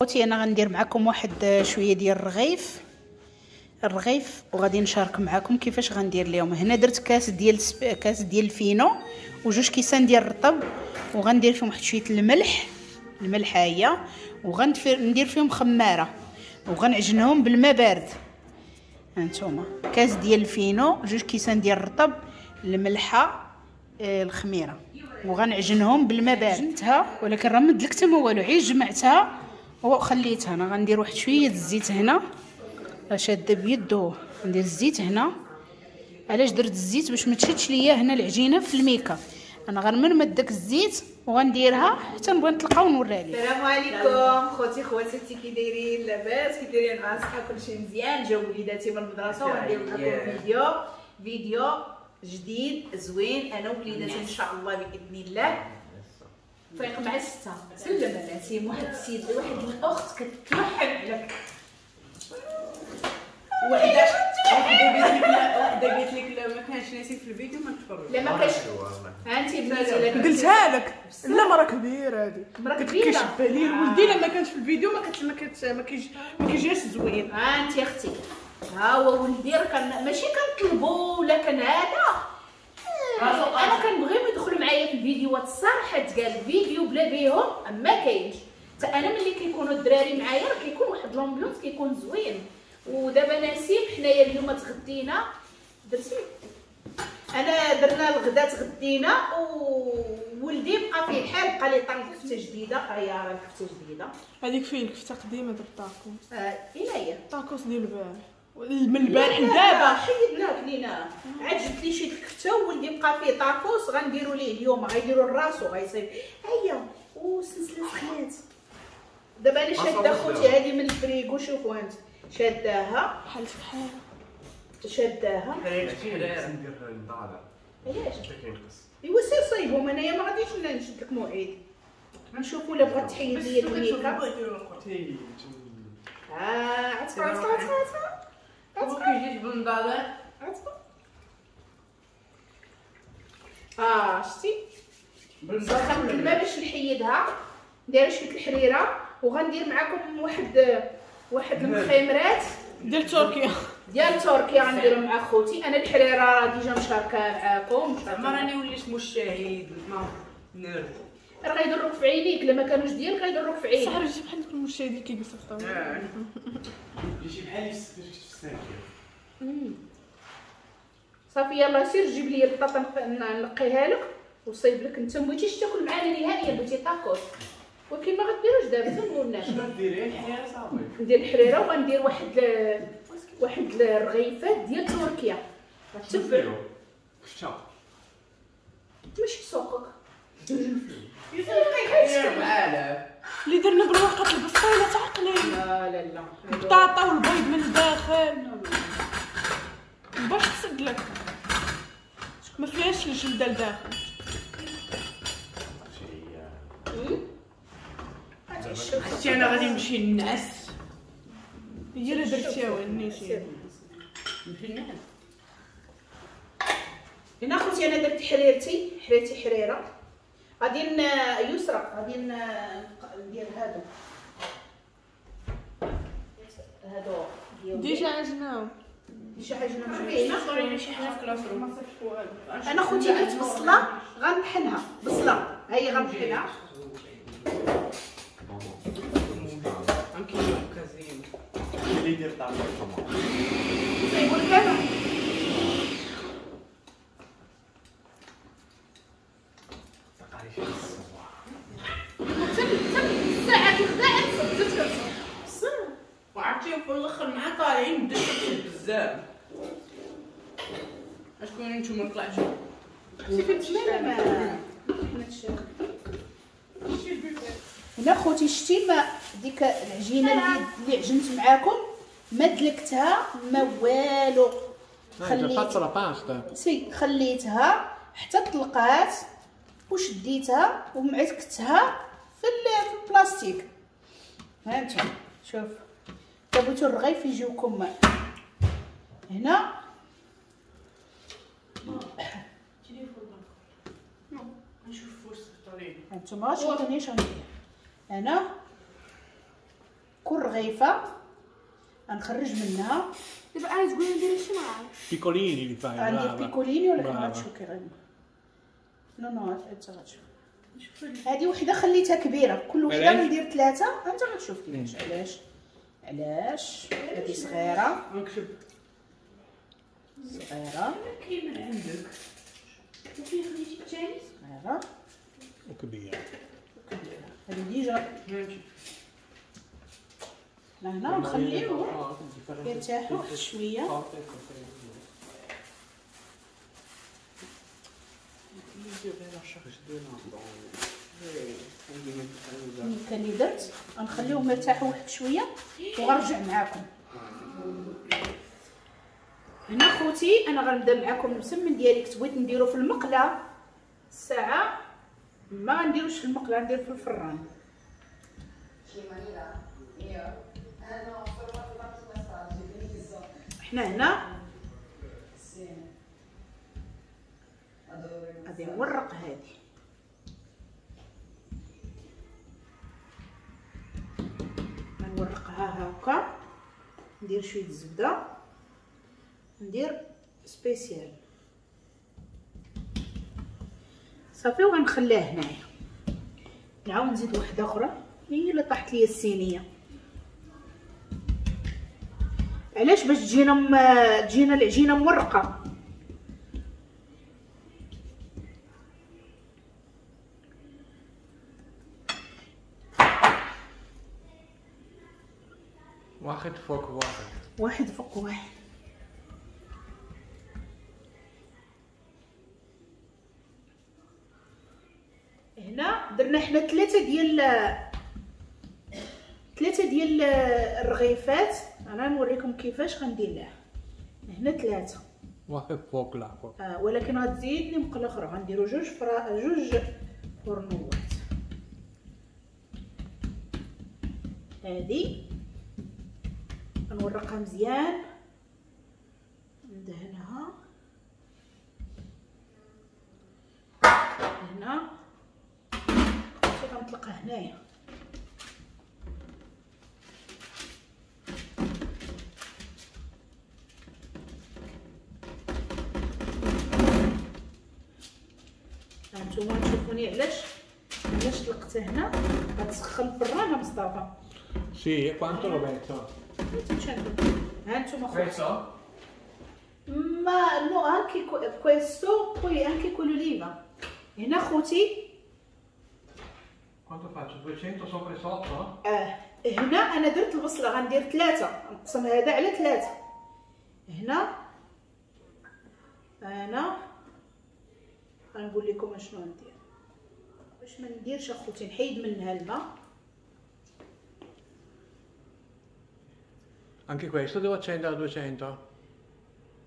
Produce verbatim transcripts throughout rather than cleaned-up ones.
خوتي انا غندير معكم واحد شوية ديال الرغيف الرغيف وغادي نشارك معكم كيفاش غندير ليهم. هنا درت كاس ديال كاس ديال الفينو وجوج كيسان ديال الرطب، وغندير فيهم واحد شوية الملح، الملح هي، وغندير فيهم خمارة وغنعجنهم بالماء بارد. هانتوما كاس ديال الفينو، جوج كيسان ديال الرطب، الملحة، آه الخميره، وغنعجنهم بالماء بارد. عجنتها ولكن راه ما دلكت ما والو، غير جمعتها وخليتها. انا غندير واحد شوية الزيت هنا، راه شاده بيدو، ندير الزيت هنا. علاش درت الزيت؟ باش ما تشدش ليا هنا العجينة في الميكا. انا غنمرمد داك الزيت وغنديرها حتى نبغي نطلقها ونوريها لكم. السلام عليكم خوتي خواتاتي، كي دايرين؟ لاباس؟ كي دايرين مع الصحة؟ كلشي مزيان؟ جاو وليداتي من المدرسة وغندير لكم فيديو فيديو جديد زوين انا ووليداتي ان شاء الله باذن الله. فايق مع الستة. سلم على نسيم، واحد السيد واحد الاخت كتوحم عليك. وحده وحده قالت لك لا ما كانش نسيم في الفيديو ما نتفرج. لا ما كانش. ها انت بنتي قلتها لك. لا مرا كبيرة هذه، مرا كبيرة كيشبه لي ولدي. لا ما كانش في الفيديو ما كت ما كت ما كيجيش زوين. ها انت اختي، ها هو ولدي راه كان ماشي كنطلبو ولا كان هذا، انا كنبغيهم يدخلوا معايا في الفيديوهات. الصراحة تقال الفيديو بلا بيهم ما كاينش. حتى انا ملي كيكونوا الدراري معايا راه كيكون واحد l'ambiance كيكون زوين. ودابا نسيم حنايا اليوم تغدينا، درتي انا درنا الغدا تغدينا، وولدي بقى فيه الحال، بقى لي طن كفته جديدة. هيا راه الكفتة جديدة هذيك، فين الكفتة قديمة درت طاكوس. آه فين هي طاكوس ديال البارح، من البارح لدابا حيدناه كليناه. عاد جبت لي شي الكفتة وولدي بقى فيه طاكوس، غنديروا ليه اليوم، غيديروا لراسو غيصيب. هيا وسلسلة سخنات. دابا انا شاده خوتي هذه من الفريكو، شوفوا انت شاداها بحال بحال شاداها. علاش؟ ايوا سير صايبهم، انايا ما غاديش نشد لك موعد. نشوفوا الا بغات تحيد ليا الميكا. اه عتقوا عتقوا عتقوا عتقوا كيجيش بالنضاضر عتقوا. اه شتي سخنت الماء باش نحيدها، ندير شوية الحريره وغندير معكم واحد واحد المخيمرات ديال تركيا ديال تركيا غنديرهم مع خوتي. انا الحريره راه déjà مشاركة معاكم. زعما راني وليت مشاهد ما نير، راه غيضروك في عينيك لما كانوش ديالك غيضروك في عينيك. صح، راه بحال دوك المشاهدين اللي كيجلسوا في الطاولة، جيتي بحال في الساكيه. صافي يلاه سير جيب لي البطاطا نلقيها لك وصيب لك. انت ما بغيتيش تاكل معانا نهائيا، بغيتي طاكوس، ولكن ما غديروش دابا تنقولناش. شنو ديري؟ الحريره صافي ندير الحريره وغندير واحد واحد الرغيفات ديال تركيا. غتبعوا كفته ماشي سوقك اللي درنا بالورقة البسطيله تعقلي. لا لا لا، البطاطا والبيض من الداخل باش تسد لك، ما فيهاش الجلدة لداخل. اختي انا غادي نمشي نعس. هي اللي درتيها ونيتي نمشي نعس. هنا خوتي انا درت حريرتي، حريرتي حريره. غادي يسرى غادي ندير هادو هادو déjà عجناهم، déjà عجناهم. شوفي هنا شي حاجة في classroom. انا خوتي درت بصله غنطحنها، بصله هي غنطحنها. صايبوا لك انا حتى الساعة الغدا عاد بدات كتصب. وعرفتي في الاخر مع طالعين بدات كتصب بزاف. اشكون نتوما طلعتوا؟ شي لا ما هنا خوتي شتي ما ديك العجينة اللي اللي عجنت معاكم ما دلكتها ما والو، خليت سي خليتها حتى طلقات وشديتها ومعكتها في البلاستيك. ها انتم شوف بغيتو الرغيف يجيوكم هنا. هانتوما شوفوني اش غندير انا. كل رغيفه غنخرج منها. دابا انا تقولي ندير شي معاك piccolini اللي fai. غندير piccolini ولكن غتشوف كي غادي. no no انت غتشوف. هذه وحده خليتها كبيرة، كل وحده غندير ثلاثة. انت غتشوف كيفاش. علاش علاش هذه صغيرة نكتب صغيرة كاين من عندك وفين خليتي الثاني صغيرة وكبيره وكبيره. هذه déjà لهنا نخليوهم يرتاحوا واحد شوية. الميكا اللي درت غنخليهم يرتاحوا واحد شوية وغنرجع معاكم. هنا خوتي انا غنبدا معاكم المسمن ديالي. كنت بغيت نديرو في المقله الساعة، ما غنديروش في المقله، غندير في الفران. حنا هنا غادي نورق هادي. غنورقها هكا، ندير شوية الزبدة، ندير spécial صافي، وغنخليها هنايا. نعاود نزيد وحده اخرى هي اللي طاحت ليا الصينية. علاش؟ باش تجينا م... تجينا العجينة مورقه. واحد فوق واحد، واحد فوق واحد. هنا درنا حنا ثلاثة ديال ثلاثة ديال الرغيفات. انا نوريكم كيفاش غندير لها. هنا ثلاثة واحد فوق الاخر، آه ولكن غتزيدني مقلة اخرى. غنديرو جوج فرا جوج فرنوات. هادي غنورقها مزيان، ندهنها هنا، غنطلقها هنايا. هانتوما تشوفوني علاش علاش طلقتها هنا. غتسخن الفران مصطفى. sì, quanto lo metto؟ هانتوما خوتي. ma no anche questo poi anche con l'oliva. هنا خوتي quanto faccio؟ duecento sopra e sotto؟ اه هنا انا درت البصله، غندير ثلاثة، نقسم هذا على ثلاثة. هنا انا غنقول لكم اشنو ندير باش ما نديرش اخوتي، نحيد منها الماء. Anche questo devo accendere a duecento?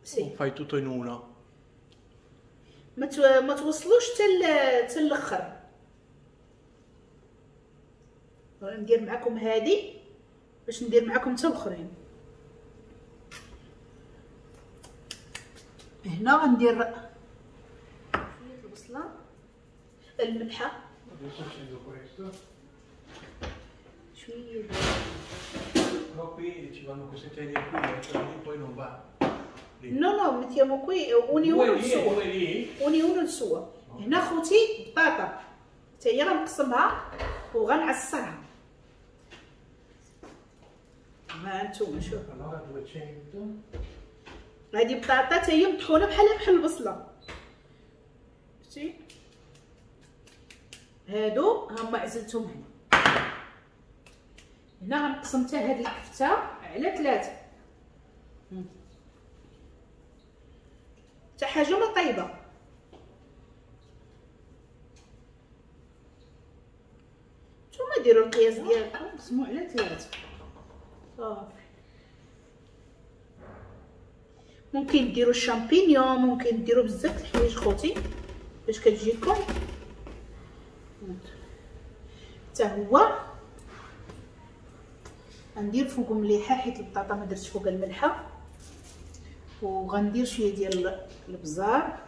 Sì. O fai tutto in uno? ما تو... ما توصلوش حتى حتى الاخر. ندير معكم هادي باش ندير معكم حتى الاخرين. هنا غندير شوية البصله، الملحة، شوية. Però qui ci vanno queste teglie qui, eh, poi non va. Lì. No no, mettiamo qui ognuno il suo. Ognuno il suo. هنا خوتي بطاطا حتى هي غنقسمها وغنعصرها. ها انتم شوفوا. هادي بطاطا حتى هي مطحونه بحال بحال البصله. شتي هادو هما عزلتهم هنا. هنا غنقسم حتى هاد الكفتة على ثلاثة. حتى حاجة ما طيبة. نتوما ديروا القياس ديالكم، قسموا على ثلاثة صافي. ممكن ديروا الشامبينيون، ممكن ديروا بزاف الحوايج خوتي باش كتجيكم. حتى هو غندير فوق مليحة حيت البطاطا ما درتش فوق الملحة، وغندير شوية ديال البزار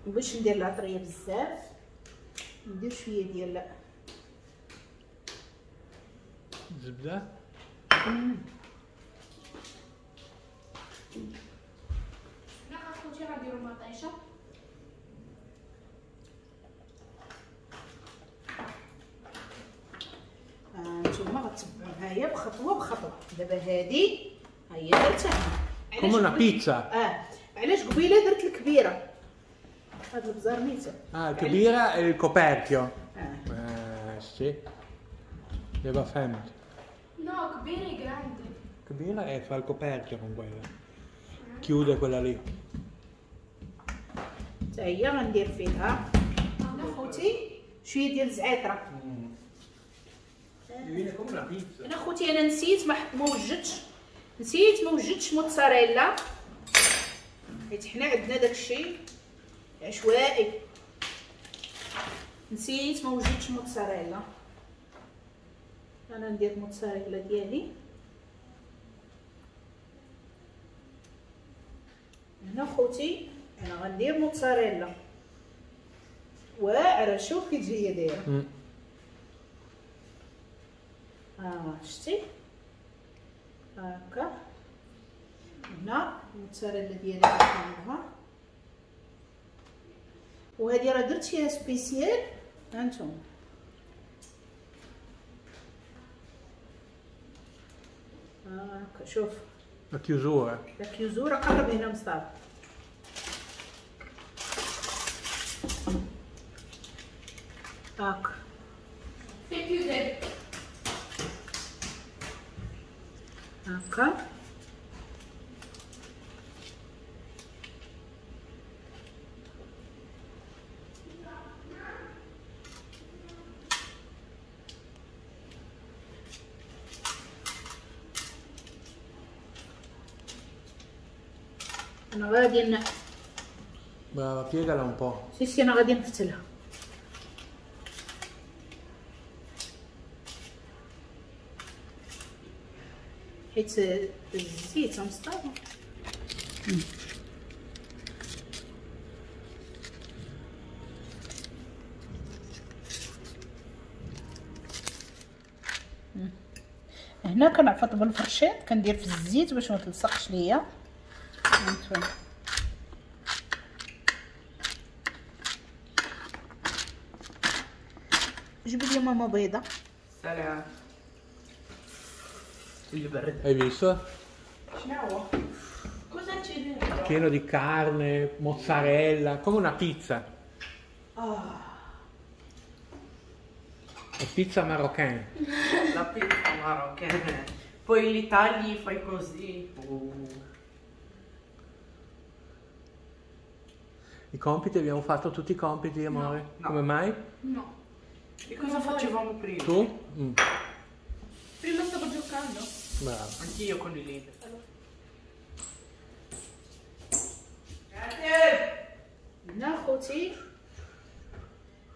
باش ندير العطريه بزاف. ندير شوية ديال زبدة. لا اخوتي غنديرو مطيشه. نتوما غتبعوا معايا بخطوة بخطوة. دابا هادي ها هي درتها come una pizza. اه علاش قبيلة درت الكبيرة؟ هاد البزار ميته. اه الكبيرة ال coperchio. اه eh sì دابا فهمت. no كبيرة grande. كبيرة e fa il coperchio con quella. Chiude quella lì. حتى هي غندير فيها انا خوتي شوية ديال الزعتره. انا خوتي انا نسيت ما ما وجدتش، نسيت ما وجدتش موتزاريلا حيت حنا عندنا داكشي عشوائي. نسيت ما وجدتش موتزاريلا. انا ندير موتزاريلا ديالي هنا خوتي. انا غندير موتزاريلا واعرة، شوف كي تجي دايرة. اه شتي هكا هنا الموتزاريلا ديالي غنحطها، وهذه راه درت فيها spécial. هانتوما هكا شوف la chiusura. la chiusura قرب هنا مصطفى. هاكا هاكا انا غادي ن... brava piegala un po'. sì sì انا غادي نفتلها. حيت الزيت مصطفى. هنا كنعفط بالفرشيط، كندير في الزيت باش ما تلصقش ليا. جيب لي ماما بيضة. سلام. البرد. Hai visto? شنو؟ Cosa c'è dentro? Pieno di carne, mozzarella, come una pizza. Ah. La pizza marocchina. La pizza marocchina. Poi li tagli, fai così. Oh. I compiti, abbiamo fatto tutti i compiti, amore? No. Come mai? No. E cosa facevamo prima? Tu? Mm. Prima stavo giocando. Bravo. Anch'io con i libri. Grazie. هنا خوتي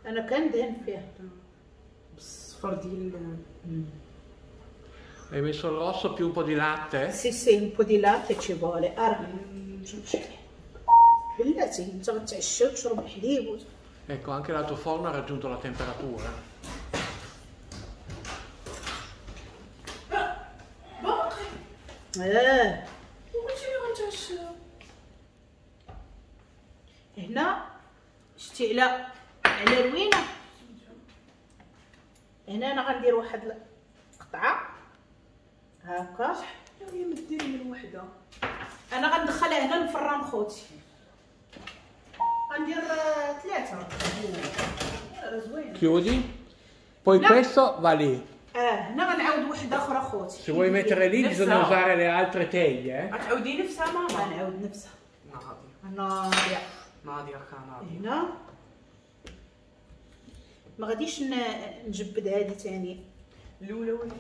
انا كندهن فيها بالصفر ديال. Hai messo il rosso più un po' di latte? Sì sì, un po' di latte ci vuole. Ara شوف شحال بلاتي انت غتعشى وتشرب الحليب و... Ecco, anche l'altro forno ha raggiunto la temperatura. باقي اه وقلتي لي غنتعشى. هنا شتي على على روينه. هنا انا غندير واحد القطعة هكا. هي ما ديري من وحده. انا غندخلها هنا للفران خوتي. غندير ثلاثة راه زوينة. Chiudi. Poi No. questo va lì. اه هنا غنعاود وحده اخرى خوتي. Se vuoi mettere lì bisogna usare le altre teglie. Eh? غتعاودي نفسها ماما؟ غنعاود نفسها. ناضيه ناضيه ناضيه كناضيه. هنا ما غاديش نجبد هذه ثاني. الاولى ولا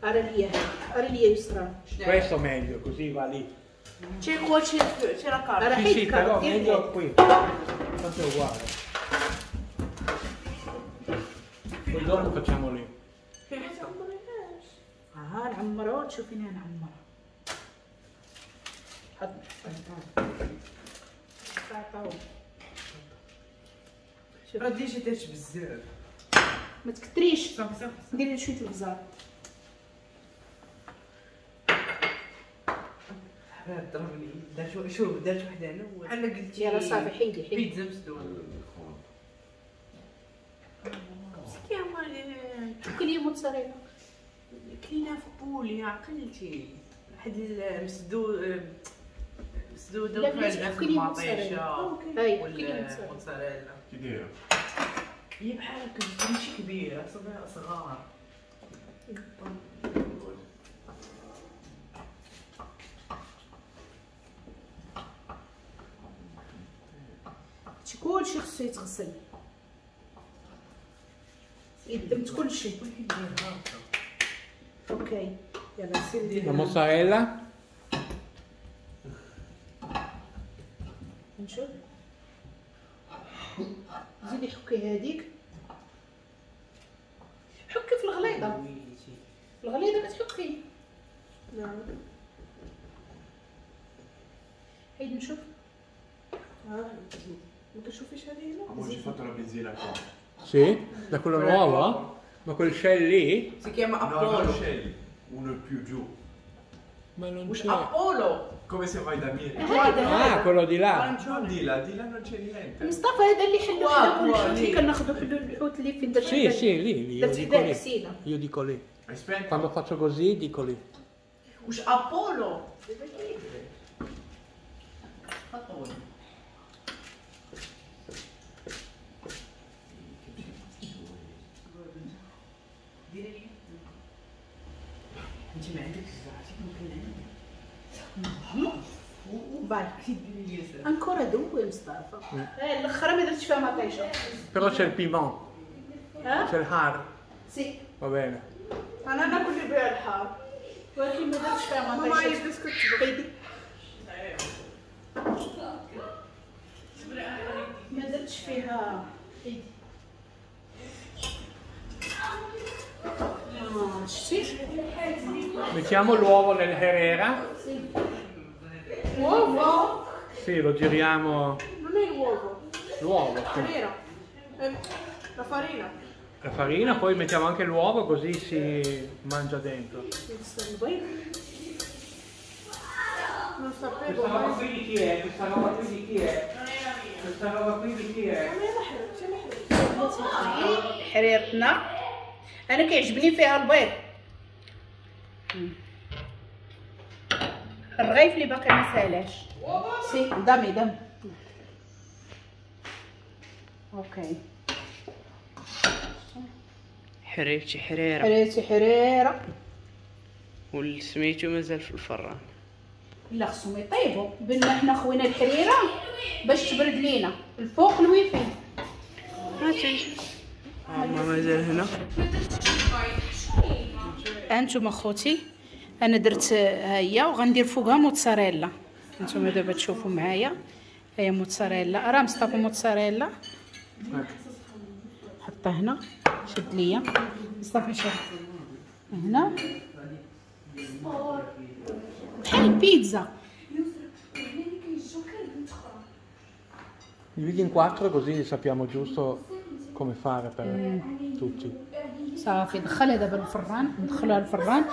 ارى ليا ارى ليا يسرى. Questo meglio, così va lì. C'è qua, c'è c'è la carta. Sì, sì, però meglio qui. Tanto è uguale. giorno facciamo lì. ها نعمرها تشوفيني نعمرها. حط حط راه déjà درت بزاف. ما تكثريش. صافي صافي ديري شوية البزار. حباب ضربني دار شوف دارت وحده انا بحال قلتي. يلا صافي حيدي حيدي. بيتزا مسدودة. كلي موتزاريلا. كلينا في بوليا عقلتي واحد المسدود مسدودة وفيها المطيشه والموتزاريلا. كي دايرة؟ هي بحال هكا ماشي كبيرة صغار. هادشي كلشي خصو يتغسل. يدمت كلشي. OK يلا سير دير la mozzarella. نشوف زيدي حكي هذيك. حكي في الغليظة. الغليظة كتحكي. نعم حيد نشوف. ها ما كتشوفيش هذه هنا؟ Oggi ho fatto la benzina qua. Sì, da quella nuova? Ma quel Shell lì? Si chiama Apollo. No, non Shell, uno più giù. Ma non c'è. Apollo! Come se vai da Miri. Ah, quello di là. Non di là, di là non c'è niente. مصطفى هذا اللي حلو حنا كل الحوت اللي كناخذو حلو الحوت اللي فين درت. Sì, sì, lì, lì, io dico lì. Io dico lì. Quando faccio così dico lì. واش ابولو؟ ابولو. ديري لي انت ما عندكش عرفتي ممكن عندك. Vai. Ancora due مصطفى. الاخرى ما درتش فيها مطيشه. Però c'è il piment. C'è il har. Sì. Va bene. انا ناكل بها الحار. ولكن ما درتش فيها مطيشه. ماما بدات كتبغي. ما درتش فيها. شتي؟ Mettiamo l'uovo nel Herrera. Sì. Uovo? Sì, lo giriamo. Non è l'uovo. L'uovo, sì. Vero. La farina. La farina, poi mettiamo anche l'uovo così si mangia dentro. Non sapevo. Questa roba qui di chi è? Questa roba qui di chi è? Questa roba qui di chi è? حريرتنا انا كيعجبني فيها البيض. الرغيف اللي باقي ما سالاش. Sì dammi dammi. OK حريرتي حريره. حريرتي حريره والسميتو مازال في الفران. لا خصهم يطيبوا بما حنا خوينا الحريره باش تبرد لينا الفوق الويفي. ما مازال هنا. انتم اخوتي انا درت ها هي وغندير فوقها موتزاريلا. انتم دابا تشوفوا معايا هي موتزاريلا. راه مصطفى موتزاريلا حطها هنا. شد ليا مصطفى شد هنا بحال البيتزا. Dividi in quattro così sappiamo giusto come fare per tutti. صافي دخلها دابا الفران. ندخلوها الفران.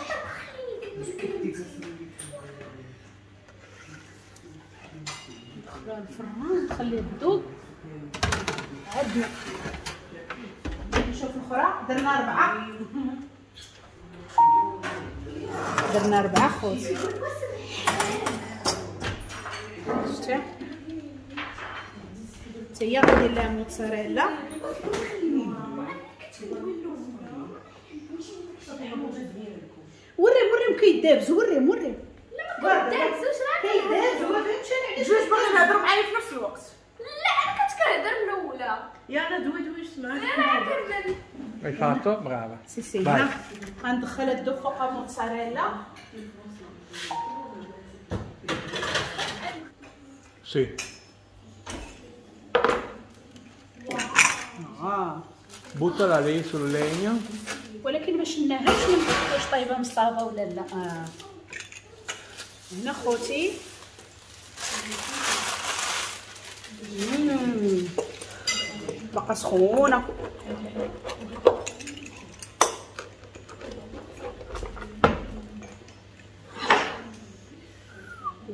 ندخلوها الفران نخليها تذوب. عندنا نشوف الاخرى. درنا اربعة. درنا اربعة خوتي. شتي حتى هي غندير لها موتزاريلا. وريهم وريهم كيدابز. وريهم وريهم. لا ما كيدابزوش راه كيدابزو. ما فهمتش انا علاش جوج باغيين يهضروا معايا في نفس الوقت. لا انا كنت كنهضر الاولى. يلا دوي دوي سمعت. لا كمل. Hai fatto? Brava. Sì sì. غندخل الدوب فوق موتزاريلا. Sì. آه. Buttala lì sul legno. ولكن ما شلناهاش من واش طايبه مصطافه ولا لا. آه. هنا خوتي باقا سخونة.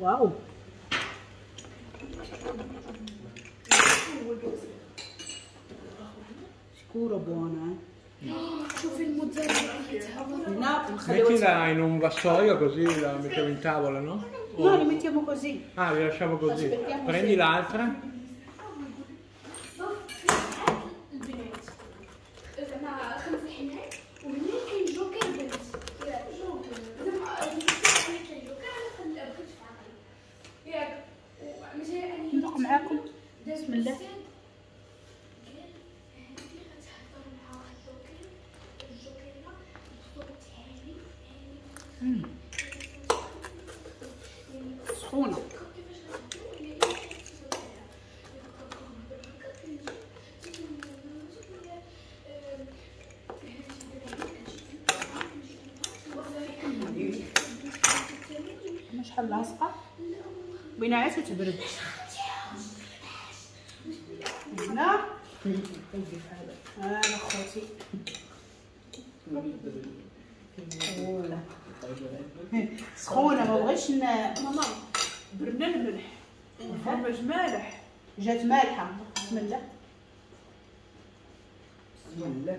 واو sicuro buona. شوفي الموتزاريلا. Mettila in un vassoio così la mettiamo in tavola, no? No, li mettiamo così. Ah, li lasciamo così. Prendi l'altra. البنات زعما خمس حنات وهنا كاين جوكر بنت جوكر زعما كاين جوكر انا بقيت في عقلي ياك مثلا انا ندوق معاكم. بسم الله. سخونة. شحال لاصقه بينا عاد تبرد. هنا انا خوتي سخونة ما بغيتش ماما برنا الملح الفرماج مالح جات مالحة. بسم الله بسم الله.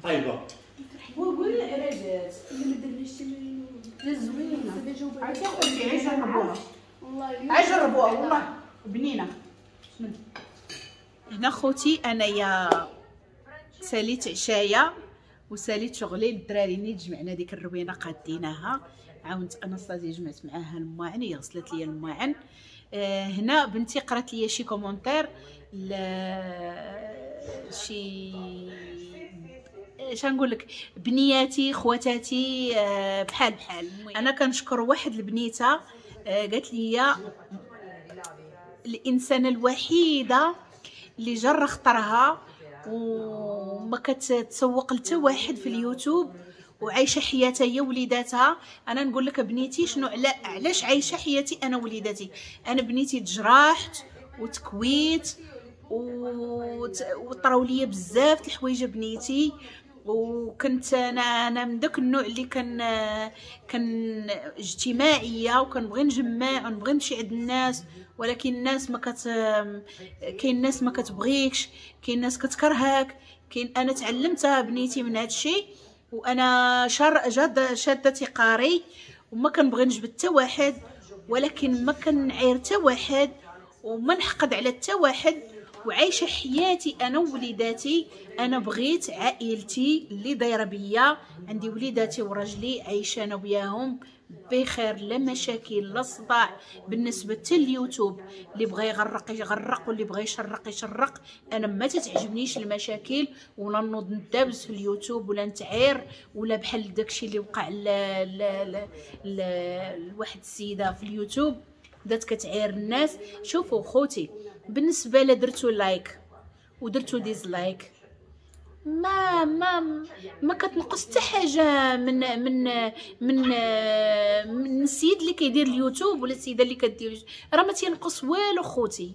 طيبة وقول على جات اللي ما درناش تمرين جات زوينة. عرفتي خوتي عايز جربوها والله عايز جربوها والله بنينه. بسم الله. هنا خوتي انايا ساليت عشايا وساليت شغلي للدراري. نيت جمعنا ديك الروينه قاديناها، عاونت اناستازيا جمعت معاها المواعن، هي غسلت لي المواعن. آه هنا بنتي قرات لي شي commentaire ل شي اش نقول لك بنياتي خواتاتي آه بحال بحال. انا كنشكر واحد البنيته آه قالت لي الانسانة الوحيدة اللي جر خطرها وما كتسوق لتا واحد في اليوتيوب وعايشة حياتها هي وليداتها. انا نقول لك بنيتي شنو علا علاش عايشه حياتي انا وليداتي. انا بنيتي تجرحت وتكويت وطراو ليا بزاف د الحوايج بنيتي، وكنت انا انا من داك النوع اللي كان كان اجتماعية وكنبغي نجمع ونبغي نمشي عند الناس، ولكن الناس ما كت كاين ناس ما كتبغيكش، كاين ناس كتكرهك، كاين انا تعلمتها بنيتي من هذا الشيء. وانا شر جاد شاده تقاري وما كنبغي نجبد حتى واحد، ولكن ما كنعير حتى واحد وما نحقد على حتى واحد، وعايشة حياتي انا ووليداتي. انا بغيت عائلتي اللي دايرة بيا، عندي وليداتي وراجلي عايشه انا وياهم بخير، لا مشاكل لا صداع. بالنسبة حتى اليوتيوب اللي بغى يغرق يغرق واللي بغى يشرق يشرق، انا ما تتعجبنيش المشاكل ولا نوض ندابز في اليوتيوب ولا نتعير ولا بحال داكشي اللي وقع لواحد السيدة في اليوتيوب بدات كتعير الناس. شوفوا خوتي، بالنسبة لا درتو like ودرتو dislike ما ما ما كتنقص حتى حاجة من من من من السيد اللي كيدير اليوتيوب ولا السيدة اللي كدير، راه ما تينقص والو خوتي.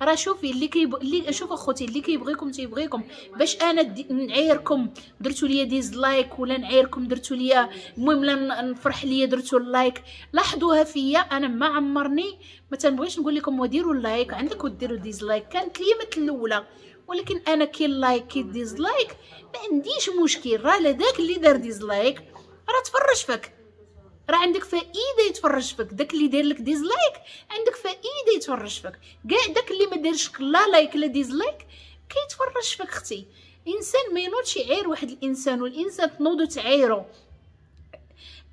راه شوفي اللي كيب اللي شوفوا خوتي اللي كيبغيكم تيبغيكم. باش انا نعايركم درتو ليا dislike ولا نعايركم درتو ليا، المهم لا نفرح ليا درتو ال like، لاحظوها فيا انا ما عمرني ما تنبغيش نقول لكم وديروا ال like عندك وديروا dislike، كانت ليا مثل الاولى، ولكن انا كي like كي dislike ما عنديش مشكل. راه لداك اللي دار dislike راه تفرج فيك، راه عندك فائدة يتفرج فيك. داك اللي داير لك dislike عندك فائدة يتفرج فيك. كاع داك اللي ما دارش لا like لا dislike كيتفرج فيك اختي. انسان ما ينوضش يعاير واحد الانسان، والانسان تنوضو تعايرو.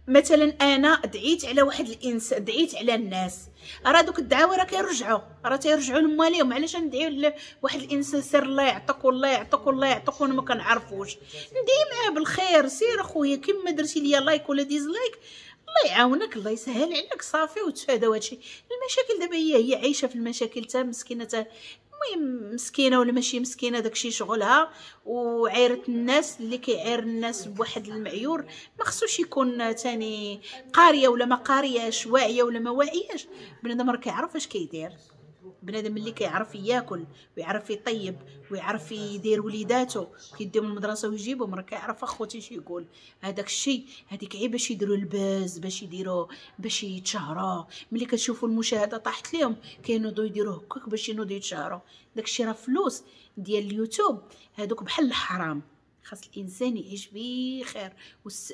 مثلا انا دعيت على واحد الانسان، دعيت على الناس، راه دوك الدعاوي راه كيرجعوا، راه تيرجعوا لماليهم. علاش ندعيو لواحد الانسان سير الله يعطيك والله يعطيك والله يعطيك وانا ما كنعرفوش؟ ندعي معاه بالخير، سير اخويا كيما درتي ليا like ولا dislike الله يعاونك، الله يسهل عليك، صافي وتفاداو هادشي. المشاكل دابا هي هي عايشه في المشاكل تا مسكينه، تا المهم مسكينه ولا ماشي مسكينه داكشي شغلها، وعايره الناس. اللي كيعاير الناس بواحد المعيور ما خصوش يكون تاني قارية ولا ما قارياش، واعية ولا ما واعياش. بنادم راه كيعرف اش كيدير، بنادم اللي كيعرف ياكل ويعرف يطيب ويعرف يدير وليداتو كيديهم المدرسة ويجيبهم، راه كيعرف اخوتي شي يقول. هذاك الشيء هذيك عيب باش يديروا ال buzz، باش يديروا باش يتشهروا. ملي كتشوفوا المشاهدة طاحت لهم كينوضوا يديروا هكاك باش ينوضوا يتشهروا. داك الشيء راه فلوس ديال اليوتيوب، هذوك بحال الحرام. خاص الانسان يعيش بخير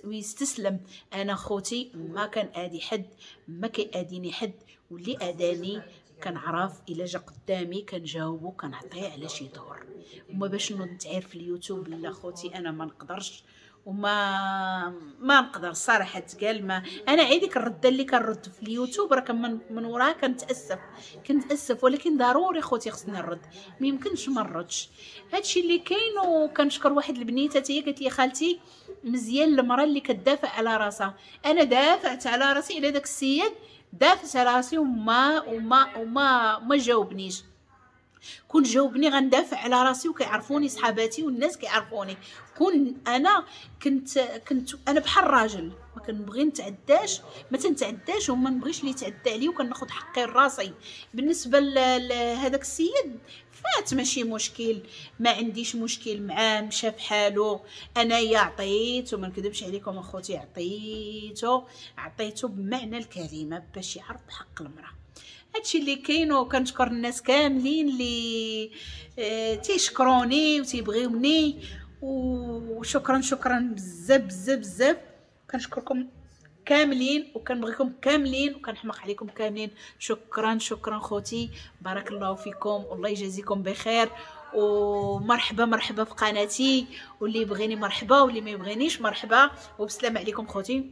ويستسلم. انا خوتي ما كان ادي حد، ما كياديني حد، واللي اداني كنعرف الا جا قدامي كنجاوبو كنعطيه على شي دور. وما باش نوض نتعاير في اليوتيوب لا خوتي انا ما نقدرش، وما ما نقدر صراحة تقال. ما انا عيديك الرده اللي كنرد في اليوتيوب راه من, من وراها كنتاسف كنتاسف، ولكن ضروري خوتي خصني نرد، ما يمكنش ما نردش. هادشي اللي كاين. وكنشكر واحد البنيته هي قالت لي خالتي مزيان المراة اللي كتدافع على راسها. انا دافعت على راسي على داك السيد، دافعت على راسي وما وما وما ما جاوبنيش. كون جاوبني غندافع على راسي، وكيعرفوني صحاباتي والناس كيعرفوني. كون انا كنت كنت انا بحال الراجل، ما كنبغي نتعداش، ما تنتعداش وما نبغيش اللي يتعدى عليا، وكناخذ حقي لراسي. بالنسبة لهذاك السيد فات ماشي مشكل، ما عنديش مشكل معاه، مشى في حالو. انايا عطيت، وما نكذبش عليكم اخوتي، عطيتو عطيتو بمعنى الكلمة باش يعرف حق المراة. هادشي اللي كاين. وكنشكر الناس كاملين اللي اه تيشكروني وتيبغيوني، وشكرا شكرا بزاف بزاف بزاف. كنشكركم كاملين وكنبغيكم كاملين وكنحمق عليكم كاملين. شكرا شكرا خوتي، بارك الله فيكم والله يجازيكم بخير. ومرحبا مرحبا في قناتي، واللي يبغيني مرحبا واللي ما يبغينيش مرحبا. وبسلام عليكم خوتي.